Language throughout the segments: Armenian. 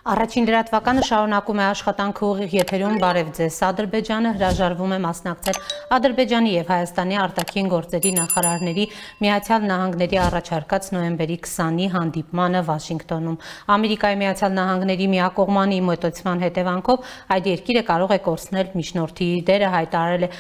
Առաջին լրատվականը շարունակում է աշխատանքը ուղիղ եթերում բարև ձեզ։ Ադրբեջանը հրաժարվում է մասնակցել Ադրբեջանի եւ Հայաստանի արտաքին գործերի նախարարների Միացյալ Նահանգների առաջարկած նոյեմբերի 20-ի հանդիպմանը Վաշինգտոնում։ Ամերիկայի Միացյալ Նահանգների միակողմանի մոտեցման հետևանքով այդ երկիրը կարող է կորցնել միջնորդի դերը, հայտարարել է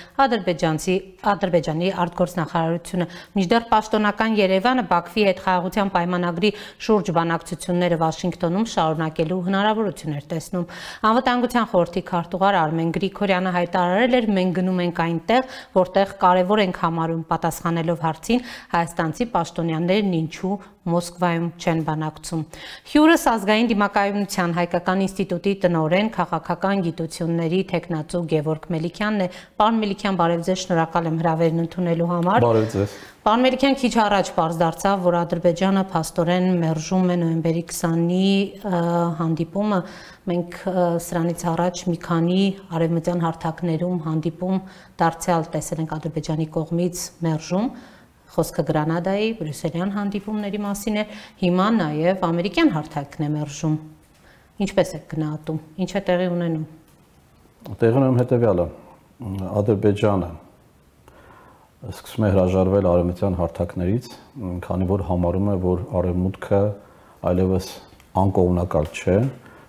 Ադրբեջանի արտգործնախարարությունը։ Մինչդեռ պաշտոնական Երևանը Բաքվի հետ խաղաղության պայմանագրի շուրջ բանակցությունները Վաշինգտոնում շարունակելու հնարավորություն էր տեսնում։ Անվտանգության խորհրդի քարտուղար Արմեն Գրիգորյանը հայտարարել էր, մենք գնում ենք այնտեղ, որտեղ կարևոր ենք համարում, պատասխանելով հարցին հայաստանցի պաշտոնյաներն ինչու Մոսկվայում չեն բանակցում։ Հյուրս ազգային դիմակայունության հայկական ինստիտուտի տնօրեն, քաղաքական գիտությունների թեկնածու Գևորգ Մելիքյանն է։ Պարոն Մելիքյան, բարև ձեզ, շնորհակալ եմ հրավերն ընդունելու համար։ Բարև ձեզ։ Պարոն Մելիքյան, քիչ առաջ պարզ դարձավ, որ Ադրբեջանը փաստորեն մերժում է նոյեմբերի 20-ի հանդիպումը։ Մենք սրանից առաջ մի քանի արևմտյան հարթակներում հանդիպում դարձյալ տեսել ենք Ադրբեջանի կողմից մերժում։ Խոսքը Գրանադայի, բրյուսելյան հանդիպումների մասին է, հիմա նաև ամերիկյան հարթակն է մերժում։ Ինչպես եք գնահատում, ինչ է տեղի ունենում։ Տեղի ունենում հետևյալը, Ադրբեջանը սկսում է հրաժարվել արևմտյան հարթակներից, քանի որ համարում է, որ արևմուտքը այլևս անկողմնակալ չէ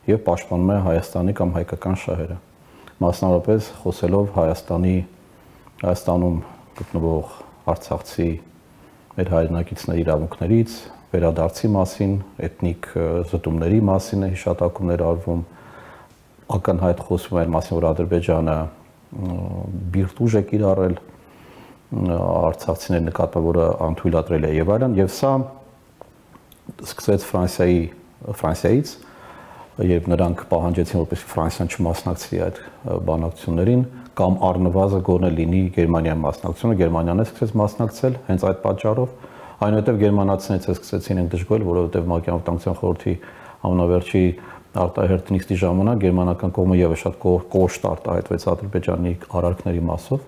եւ պաշտպանում է Հայաստանի կամ հայկական շահերը։ Մասնավորապես խոսելով Հայաստանում գտնվող արցախցի մեր հայրենակիցների իրավունքներից, վերադարձի մասին, էթնիկ զտումների մասին է հիշատակումներ արվում, ակնհայտ խոսվում է այն մասին, որ Ադրբեջանը բիրտ ուժ է կիրառել արցախցիների նկատմամբ, որը անթույլատրել է եւ այլն, եւ սա սկսեց Ֆրանսիայից, երբ նրանք պահանջեցին, որպեսզի Ֆրանսիան չմասնակցի այդ բանակցություններին, կամ առնվազն գոնե լինի Գերմանիայի մասնակցությունը, Գերմանիան է սկսեց մասնակցել հենց այդ պատճառով, այնուհետև գերմանացիներից սկսեցին են դժգոհել, որովհետև ՄԱԿ-ի անվտանգության խորհրդի ամենավերջի արտահերթ նիստի ժամանակ գերմանական կողմը ևս շատ կոշտ արտահայտվեց Ադրբեջանի արարքների մասով,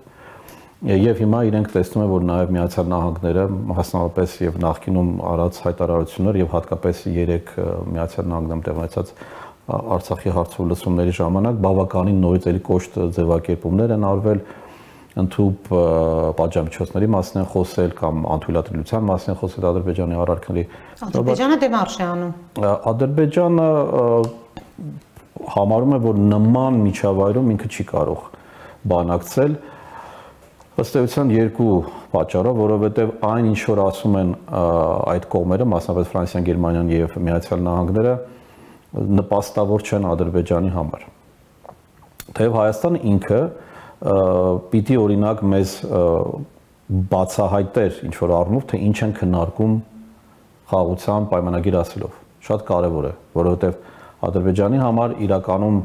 եւ հիմա իրենք տեսնում են, որ նաեւ Միացյալ Նահանգները մասնավորապես եւ նախկինում արած հայտարարություններ եւ հատկապես 3 Միացյալ Նահանգներում տեղ ունեցած Արցախի հարցով լսումների ժամանակ բավականին նորից էլի կոշտ ձևակերպումներ են արվել, ընդհանուր պատժամիջոցների մասին են խոսել կամ անթույլատրելիության մասին են խոսել Ադրբեջանի արարքների։ Ադրբեջանը դեմարշ է անում։ Ադրբեջանը համարում է, որ նման միջավայրում ինքը չի կարող բանակցել ըստ էության երկու պատճառով, որովհետև այն ինչ որ ասում են այդ կողմերը, մասնավորապես Ֆրանսիան, Գերմանիան եւ Միացյալ Նահանգները նպաստավոր չեն Ադրբեջանի համար։ Թեև Հայաստանը ինքը պիտի օրինակ մեզ բացահայտեր ինչ որ առնով, թե ինչ են քննարկում խաղաղության պայմանագիր ասելով։ Շատ կարևոր է, որովհետև Ադրբեջանի համար իրականում,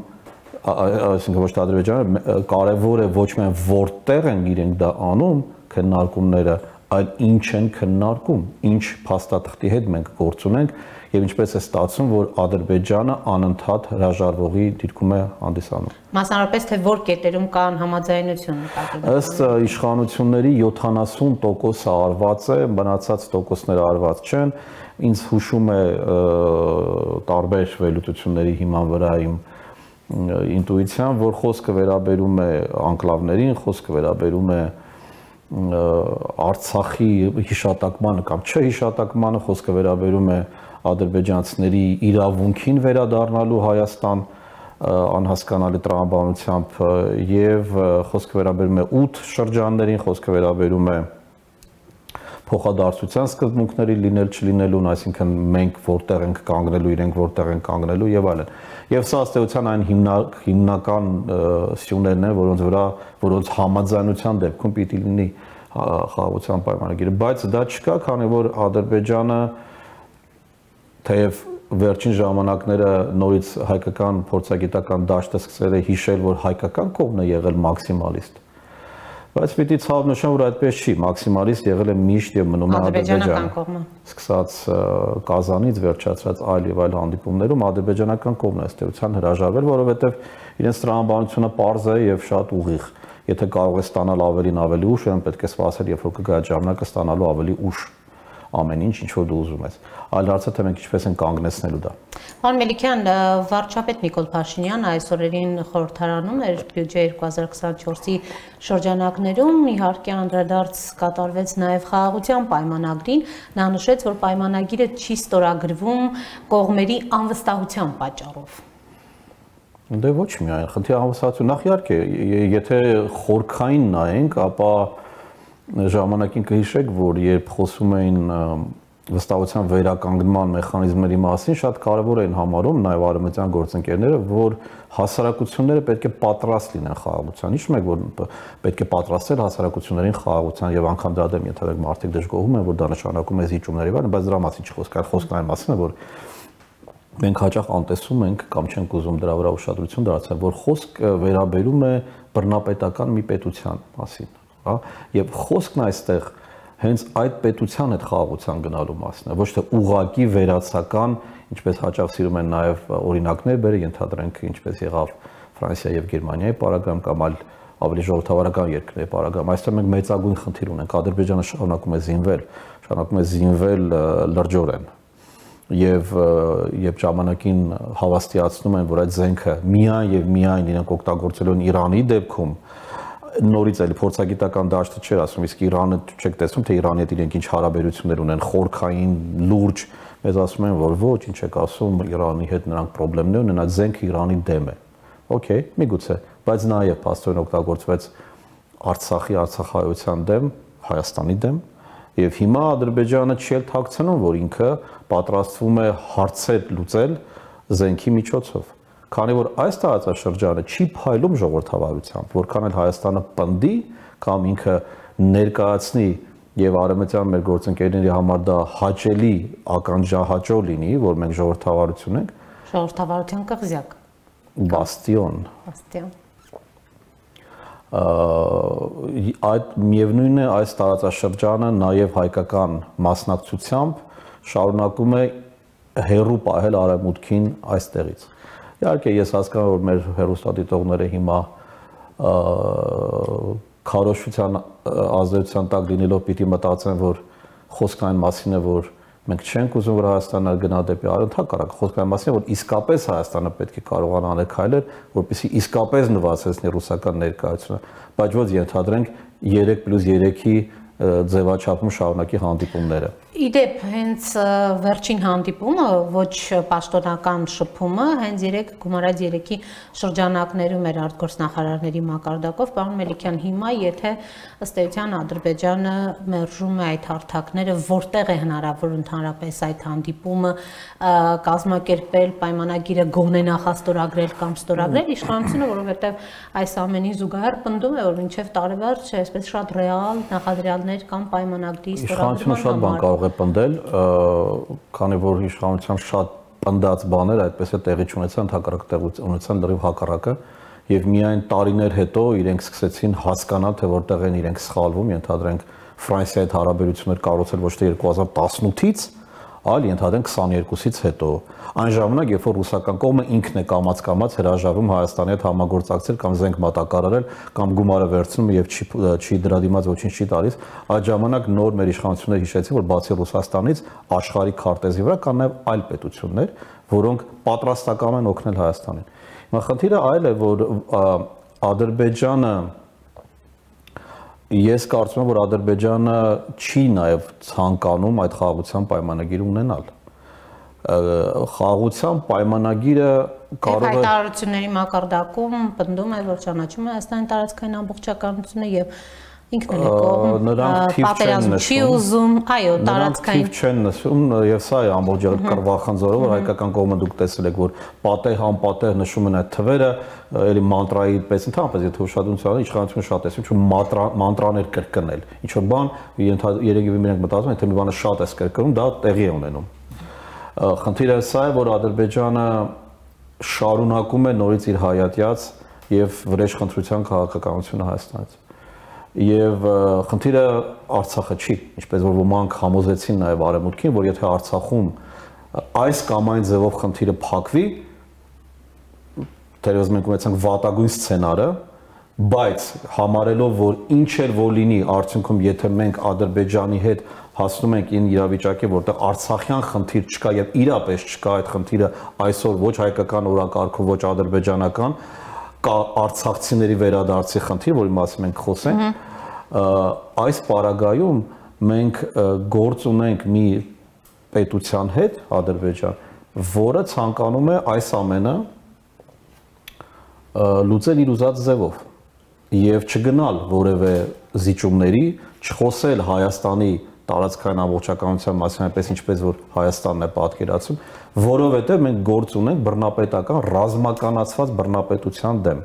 այսինքն ոչ թե Ադրբեջանը, կարևոր է ոչ միայն որտեղ են իրենք դա անում քննարկումները, այլ ինչ են քննարկում, ինչ փաստաթղթի հետ մենք գործ ունենք եւ ինչպես է ստացվում, որ Ադրբեջանը անընդհատ հրաժարվողի դիրքում է հանդիսանում։ Մասնավորապես թե որ կետերում կան համաձայնություն նկատի։ Ըստ իշխանությունների 70%-ը արված է, մնացած տոկոսները արված չեն։ Ինձ հուշում է տարբեր վերլուծությունների հիման վրա իմ ինտուիցիան, որ խոսքը վերաբերում է անկլավներին, խոսքը վերաբերում է Արցախի հիշատակմանը կամ չհիշատակմանը, խոսքը վերաբերում է ադրբեջանցիների իրավունքին վերադառնալու Հայաստան անհասկանալի տրամաբանությամբ եւ խոսքը վերաբերում է 8 շրջաններին, խոսքը վերաբերում է փոխադարձության սկզբունքների լինել չլինելուն, այսինքն մենք որտեղ ենք կանգնելու, իրենք որտեղ են կանգնելու եւ այլն։ Եվ սա ըստ էության այն հիմնական սյուներն են, որոնց համաձայնության դեպքում պիտի լինի խաղաղության պայմանագիրը, բայց դա չկա, քանի որ Ադրբեջանը թեև վերջին ժամանակները նորից հայկական փորձագիտական դաշտը սկսել է հիշել, որ հայկական կողմն է եղել մաքսիմալիստ, բայց պիտի ցավ նշեմ, որ այդպես չի, մաքսիմալիստ եղել է միշտ եւ մնում է Ադրբեջանը։ Սկսած Կազանից վերջացրած այլ եւ այլ հանդիպումներում ադրբեջանական կողմն է ըստ էության հրաժարվել, որովհետեւ իրենց տրամաբանությունը պարզ է եւ շատ ուղիղ։ Եթե կարող է ստանալ ավելին ավելի ուշ, ուրեմն պետք է սպասել, երբ որ կգա ժամանակը ստանալու ավելի ուշ։ ամեն ինչ, ինչ որ դու ուզում ես։ Այլ հարցը թե մենք ինչպես են կանգնեցնելու դա։ Պարոն Մելիքյան, վարչապետ Նիկոլ Փաշինյանը այս օրերին խորհրդարանում էր բյուջե 2024-ի շրջանակներում, իհարկե անդրադարձ կատարվեց նաև խաղաղության պայմանագրին, նա նշեց, որ պայմանագիրը չի ստորագրվում կողմերի անվստահության պատճառով։ Դե ոչ միայն, խնդիրը անվստահություն, նախ իհարկե, եթե խորքային նայենք, ապա ժամանակին կհիշեք, որ երբ խոսում էին վստահության վերականգնման մեխանիզմների մասին, շատ կարևոր էին համարում նաև արևմտյան գործընկերները, որ հասարակությունները պետք է պատրաստ լինեն խաղաղության։ Հիշում եք, որ պետք է պատրաստել հասարակություններին խաղաղության եւ անգամ դրա դեմ ենթադրենք մարդիկ դժգոհում են, որ դա նշանակում է զիջումների վրա, բայց դրա մասին չի խոսքը այն մասին է, որ մենք հաճախ անտեսում ենք կամ չենք ուզում դրա վրա ուշադրություն դարձնել, որ խոսքը վերաբերում է բռնապետական մի պետության մասին, հա, եւ խոսքն այստեղ հենց այդ պետության հետ խաղաղության գնալու մասն է, ոչ թե ուղղակի վերացական, ինչպես հաճախ սիրում են նաեւ օրինակներ բերել, ենթադրենք ինչպես եղավ Ֆրանսիա եւ Գերմանիայի պարագայում կամ այլ ավելի ժողովրդավարական երկրների պարագայում, այստեղ մենք մեծագույն խնդիր ունենք, Ադրբեջանը շարունակում է զինվել լրջորեն եւ երբ ժամանակին հավաստիացնում են, որ այդ զենքը միայն եւ միայն իրենք օգտագործելու են Իրանի դեպքում, նորից էլի փորձագիտական դաշտը չէր ասում, իսկ Իրանը չեք տեսնում, թե Իրանի հետ իրենք ինչ հարաբերություններ ունեն, խորքային, լուրջ, մեզ ասում են, որ ոչ, ինչ եք ասում, Իրանի հետ նրանք խնդիրներ ունեն, այդ զենքը Իրանի դեմ է։ Okay, միգուցե, բայց նաեւ փաստորեն օգտագործվեց Արցախի արցախայության դեմ, Հայաստանի դեմ, եւ հիմա Ադրբեջանը չի թաքցնում, որ ինքը պատրաստվում է հարցեր լուծել զենքի միջոցով։ Քանի որ այս տարածաշրջանը չի փայլում ժողովրդավարությամբ, որքան էլ Հայաստանը պնդի կամ ինքը ներկայացնի եւ արևմտյան մեր գործընկերների համար դա հաճելի ականջահաճո լինի, որ մենք ժողովրդավարություն ենք, ժողովրդավարության կղզյակ, բաստիոն։ Այդ միևնույն է այս տարածաշրջանը նաև հայկական մասնակցությամբ շարունակում է հերու պահել արևմուտքին այստեղից։ Իհարկե ես հասկանում եմ, որ մեր հեռուստադիտողները հիմա քարոզչության ազդեցության տակ լինելով պիտի մտածեն, որ խոսքը այն մասին է, որ մենք չենք ուզում, որ Հայաստանը գնա դեպի արևմուտք, խոսքը այն մասին է, որ իսկապես Հայաստանը պետք է կարողանա անել քայլեր, որպեսզի իսկապես նվազեցնի ռուսական ներկայությունը, բայց ոչ ենթադրենք 3+3-ի ձևաչափում շարունակի հանդիպումները։ Իդեպ հենց վերջին հանդիպումը, ոչ պաշտոնական շփումը, հենց գումարած 3-ի շրջանակներում էր արտգործնախարարների մակարդակով, պարոն Մելիքյան, հիմա եթե ըստ էության Ադրբեջանը մերժում է այդ հարթակները, որտեղ է հնարավոր ընդհանրապես այդ հանդիպումը կազմակերպել, պայմանագիրը գոնե նախաստորագրել կամ ստորագրել իշխանությունը, որովհետև այս ամենի զուգահեռ պնդում է, որ մինչև տարեվերջ այսպես շատ ռեալ նախադրյալներ կամ պայմանագրի ստորագրման շատ բան կարող է պնդել, քանի որ իշխանության շատ պնդած բաներ այդպես է տեղի չունեցան, հակառակ ունեցան լրիվ հակառակը եւ միայն տարիներ հետո իրենք սկսեցին հասկանալ, թե որտեղ են իրենք սխալվում, ենթադրենք Ֆրանսիայի հետ հարաբերություններ կառուցել ոչ թե 2018-ից, այլ ենթադրենք 22-ից հետո։ Այն ժամանակ, երբ որ ռուսական կողմը ինքն է կամաց-կամաց հրաժարվում Հայաստանի հետ համագործակցել կամ զենք մատակարարել կամ գումարը վերցնում եւ չի դրա դիմաց ոչինչ չի տալիս, այդ ժամանակ նոր մեր իշխանությունները հիշեցին, որ բացի Ռուսաստանից աշխարհի քարտեզի վրա կան նաեւ այլ պետություններ, որոնք պատրաստական են օգնել Հայաստանին։ Հիմա խնդիրը այլ է, որ Ադրբեջանը Ես կարծում եմ, որ Ադրբեջանը չի նաև ցանկանում այդ խաղաղության պայմանագիր ունենալ։ Խաղաղության պայմանագիրը կարող է հայտարարությունների մակարդակում պնդում է, որ ճանաչում է Հայաստանի տարածքային ամբողջականությունը եւ ինքն էլ է կողմ պատերազմ չի ուզում, այո, տարածքային չեն նշում եւ սա է ամբողջ կռվախնձորը, որ հայկական կողմը դուք տեսել եք, որ պատեհ անպատեհ նշում են այդ թվերը, էլի մանտրայի պես ընդհանրապես եթե ուշադրություն իշխանությունը շատ է, ինչ մանտրաներ կրկնել, ինչ որ բան երևի մենք մտածում ենք, թե մի բանը շատ է կրկնում, դա տեղի է ունենում։ Խնդիրը սա է, որ Ադրբեջանը շարունակում է նորից իր հայատյաց եւ վրեժխնդրության քաղաքականությունը Հայաստանից։ Եվ խնդիրը Արցախը չի, ինչպես որ ոմանք համոզեցին նաև արևմուտքին, որ եթե Արցախում այս կամ այն ձևով խնդիրը փակվի, թերևս մենք ունեցանք վատագույն սցենարը, բայց համարելով, որ ինչ էլ որ լինի արդյունքում, եթե մենք Ադրբեջանի հետ հասնում ենք ին իրավիճակի, որտեղ Արցախյան խնդիր չկա եւ իրապես չկա այդ խնդիրը այսօր ոչ հայկական օրակարգով, ոչ ադրբեջանական, կա արցախցիների վերադարձի խնդիր, որի մասին մենք խոսենք, այս պարագայում մենք գործ ունենք մի պետության հետ, Ադրբեջան, որը ցանկանում է այս ամենը լուծել իր ուզած ձևով եւ չգնալ որևէ զիջումների, չխոսել Հայաստանի տարածքային ամբողջականության մասին, այնպես ինչպես որ Հայաստանն է պատկերացում, որովհետեւ մենք գործ ունենք բռնապետական ռազմականացված բռնապետության դեմ,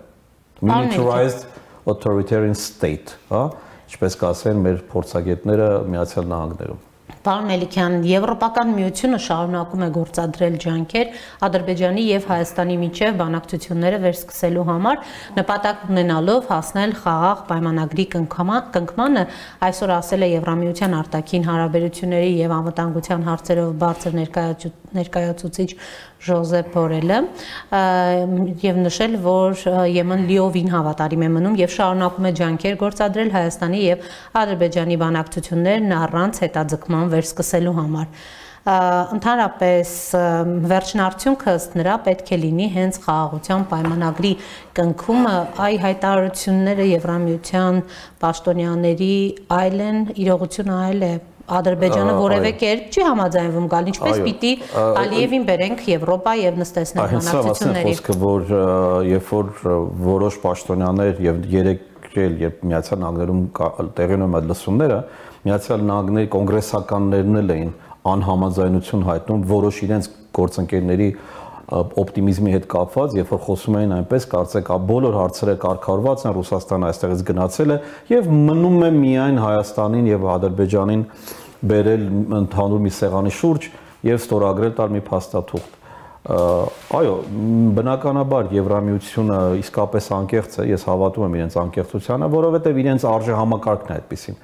militarized authoritarian state, հա, ինչպես կասեն մեր փորձագետները Միացյալ Նահանգներում։ Պարոն Մելիքյան, Եվրոպական միությունը շարունակում է գործադրել ջանքեր Ադրբեջանի եւ Հայաստանի միջև բանակցությունները վերսկսելու համար, նպատակ ունենալով հասնել խաղաղ պայմանագրի կնքմանը, այսօր ասել է Եվրամիության արտաքին հարաբերությունների եւ անվտանգության հարցերով բարձր ներկայացուցիչ Ժոզեփ Բորելը եւ նշել, որ ԵՄ-ն լիովին հավատարիմ է մնում եւ շարունակում է ջանքեր գործադրել Հայաստանի եւ Ադրբեջանի բանակցություններն առանց հետաձգման վերսկսելու համար։ Ընդհանրապես վերջնարդյունքը ըստ նրա պետք է լինի հենց խաղաղության պայմանագրի կնքումը, այ հայտարարությունները Եվրամիության պաշտոնյաների այլ են, իրողությունը այլ է։ Ադրբեջանը որևէ կերպ չի համաձայնվում գալ, ինչպես պիտի Ալիևին բերենք Եվրոպա եւ նստեցնենք բանակցությունների։ Խոսքը, որ երբ որ որոշ պաշտոնյաներ եւ երեք երբ Միացյալ Նահանգներում տեղի ունեն այդ լսումները, Միացյալ Նահանգների կոնգրեսականներն էլ էին անհամաձայնություն հայտնում որոշ իրենց գործընկերների օպտիմիզմի հետ կապված, երբ որ խոսում էին այնպես, կարծեք բոլոր հարցերը կարգավորված են, Ռուսաստանը այստեղից գնացել է եւ մնում է միայն Հայաստանին եւ Ադրբեջանին բերել ընդհանուր մի սեղանի շուրջ եւ ստորագրել տալ մի փաստաթուղթ։ Այո, բնականաբար Եվրամիությունը իսկապես անկեղծ է, ես հավատում եմ իրենց անկեղծությանը, որովհետեւ իրենց արժե համակարգն է այդպեսին։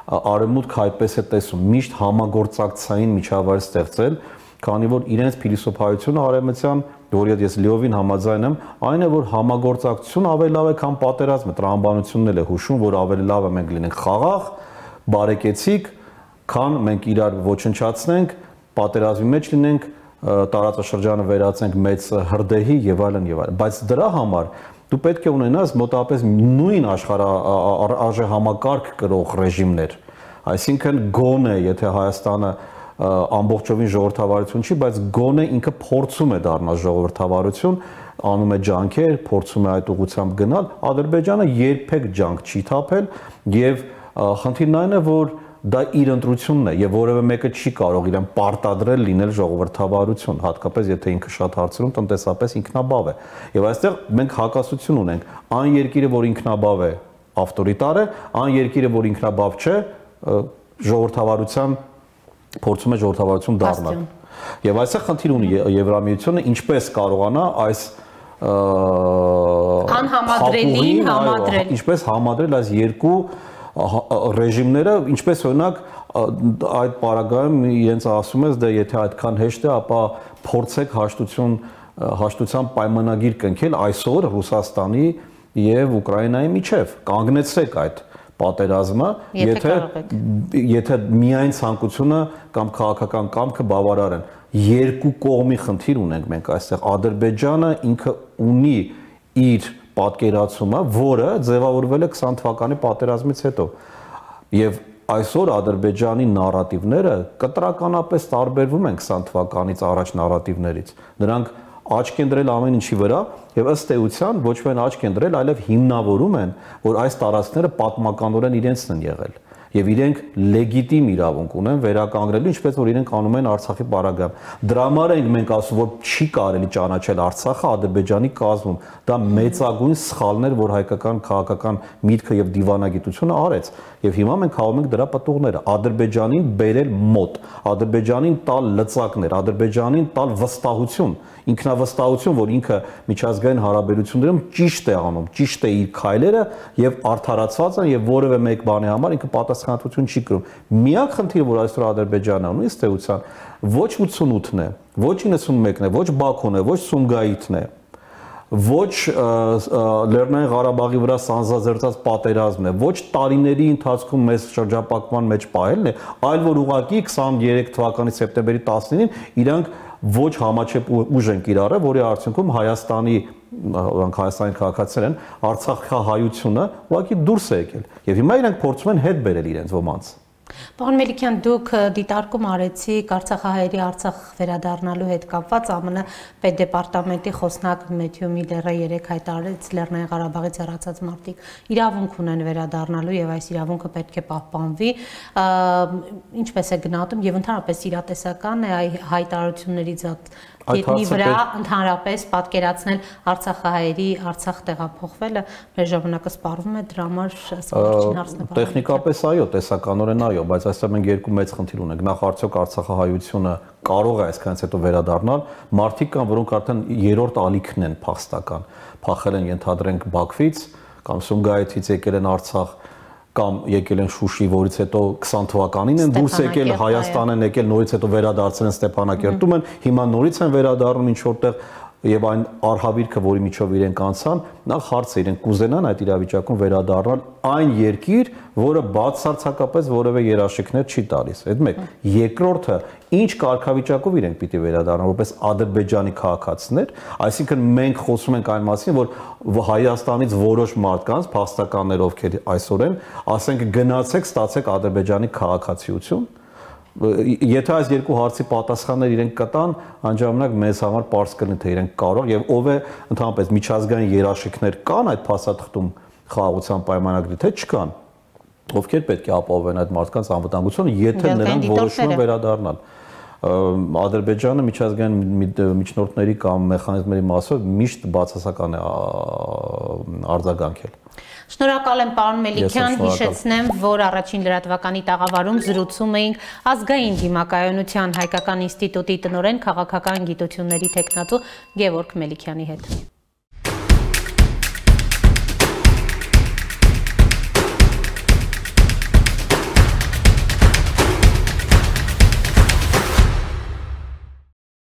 Արևմուտքը այդպես է տեսում, միշտ համագործակցային միջավայր ստեղծել, քանի որ իրենց փիլիսոփայությունը արևմտյան, որի հետ ես լիովին համաձայն եմ, այն է, որ համագործակցություն ավելի լավ է, քան պատերազմը, տրամաբանությունն էլ է հուշում, որ ավելի լավ է մենք լինենք խաղաղ, բարեկեցիկ, քան մենք իրար ոչնչացնենք, պատերազմի մեջ լինենք, տարածաշրջանը վերածենք մեծ հրդեհի եւ այլն եւ այլն, բայց դրա համար դու պետք է ունենաս մոտավորապես նույն արժե համակարգ կրող ռեժիմներ, այսինքն գոնե, եթե Հայաստանը ամբողջովին ժողովրդավարություն չի, բայց գոնե ինքը փորձում է դառնալ ժողովրդավարություն, անում է ջանքեր, փորձում է այդ ուղղությամբ գնալ, Ադրբեջանը երբեք ջանք չի թափել եւ խնդիրն այն է, որ դա իր ընտրությունն է եւ որևէ մեկը չի կարող իրեն պարտադրել լինել ժողովրդավարություն, հատկապես եթե ինքը շատ հարցերում տնտեսապես ինքնաբավ է։ Եվ այստեղ մենք հակասություն ունենք, այն երկիրը, որ ինքնաբավ է, ավտորիտար է, այն երկիրը, որ ինքնաբավ չէ, ժողովրդավարության փորձում է ժողովրդավարություն դառնալ։ Եվ այստեղ խնդիր ունի Եվրամիությունը, ինչպես կարողանա այս անհամադրելին համադրել, ինչպես համադրել այս երկու ռեժիմները, ինչպես օրինակ այդ պարագայում իրենց ասում ես, դե եթե այդքան հեշտ է, ապա փորձեք հաշտության պայմանագիր կնքել այսօր Ռուսաստանի եւ Ուկրաինայի միջև, կանգնեցրեք այդ պատերազմը, եթե միայն ցանկությունը կամ քաղաքական կամքը բավարար են։ Երկու կողմի խնդիր ունենք մենք այստեղ։ Ադրբեջանը ինքը ունի իր պատկերացումը, որը ձևավորվել է 20 թվականի պատերազմից հետո։ Եվ այսօր Ադրբեջանի նարատիվները կտրականապես տարբերվում են 20 թվականից առաջ նարատիվներից։ Նրանք աչք են դրել ամեն ինչի վրա եւ ըստ էության ոչ միայն աչք են դրել, այլև հիմնավորում են, որ այս տարածքները պատմականորեն իրենցն են եղել եւ իրենք լեգիտիմ իրավունք ունեն վերականգնելու, ինչպես որ իրենք անում են Արցախի պարագայում։ Դրա համար ենք մենք ասում, որ չի կարելի ճանաչել Արցախը Ադրբեջանի կազմում։ Դա մեծագույն սխալն էր, որ հայկական քաղաքական միտքը եւ դիվանագիտությունը արեց։ Եվ հիմա մենք հավում ենք դրա պատուղները։ Ադրբեջանին բերել մոտ, Ադրբեջանին տալ լծակներ, Ադրբեջանին տալ վստահություն, ինքնավստահություն, որ ինքը միջազգային հարաբերություններում ճիշտ է անում, ճիշտ է իր քայլերը եւ արդարացված են եւ որևէ մեկ բանի համար ինքը պատասխանատվություն չի կրում։ Միակ խնդիրը, որ այսօր Ադրբեջանը ունի, ըստ էության, ոչ 88-ն է, ոչ 91-ն է, ոչ Բաքուն է, ոչ Սումգայիթն է, ոչ Լեռնային Ղարաբաղի վրա սանձազերծած պատերազմն է, ոչ տարիների ընթացքում մեծ շրջապակման մեջ պահելն է, այլ որ ուղղակի 23 թվականի սեպտեմբերի 19-ին իրանք ոչ համաչափ ուժ են կիրառել, որի արդյունքում Հայաստանի քաղաքացիներ են Արցախահայությունը ուղղակի դուրս է եկել։ Եվ հիմա իրանք փորձում են հետ բերել իրենց ոմանց։ Պարոն Մելիքյան, դուք դիտարկում արեցիք Արցախահայերի Արցախ վերադառնալու հետ կապված ԱՄՆ պետդեպարտամենտի խոսնակ Մեթյու Միլլերը երեկ հայտարարեց Լեռնային Ղարաբաղից հեռացած մարդիկ իրավունք ունեն վերադառնալու եւ այս իրավունքը պետք է պահպանվի։ Ինչպես է գնահատում եւ ընդհանրապես իրատեսական է հայտարարություններից Գետնի վրա ընդհանրապես պատկերացնել Արցախահայերի Արցախ տեղափոխվելը, մեր ժամանակը սպառվում է դրա համար վերջին հարցն է։ Տեխնիկապես այո, տեսականորեն այո, բայց այստեղ մենք երկու մեծ խնդիր ունենք։ Նախ արդյոք Արցախահայությունը կարող է այսքանից հետո վերադառնալ, մարդիկ կան, որոնք արդեն երրորդ ալիքն են փախստական, փախել են ենթադրենք Բաքվից կամ Սումգայիթից եկել են Արցախ կամ եկել են Շուշի, որից հետո 20 թվականին են դուրս եկել, Հայաստան են եկել, նորից հետո վերադարձել են Ստեփանակերտում են, հիմա նորից են վերադառնում ինչ որտեղ եւ այն արհավիրքը, որի միջով իրենք անցան, նախ հարցը իրենք կուզենան այդ իրավիճակում վերադառնալ այն երկիր, որը բացարձակապես որևէ երաշխիքներ չի տալիս։ Այդ մեկ, երկրորդը, ինչ կարգավիճակով իրենք պիտի վերադառնան, որպես Ադրբեջանի քաղաքացիներ, այսինքն մենք խոսում ենք այն մասին, որ Հայաստանից որոշ մարդկանց, փախստականներ ովքեր այսօր են, ասենք գնացեք, ստացեք Ադրբեջանի քաղաքացիություն։ Եթե այս երկու հարցի պատասխաններ իրենք կտան, անջանակ մեզ համար պարզ կլինի, թե իրենք կարող եւ ով է ընդհանրապես միջազգային երաշխիքներ կան այդ փաստաթղթում խաղաղության պայմանագրի, թե չկան, ովքեր պետք է ապահովեն այդ մարդկանց անվտանգությունը, եթե նրանք որոշում են վերադառնալ։ Ադրբեջանը միջազգային միջնորդների կամ մեխանիզմների մասով միշտ բացասական է արձագանքել։ Շնորհակալ եմ պարոն Մելիքյան, հիշեցնեմ, որ առաջին լրատվականի տաղավարում զրուցում էինք ազգային դիմակայունության հայկական ինստիտուտի տնօրեն քաղաքական գիտությունների թեկնածու Գևորգ Մելիքյանի հետ։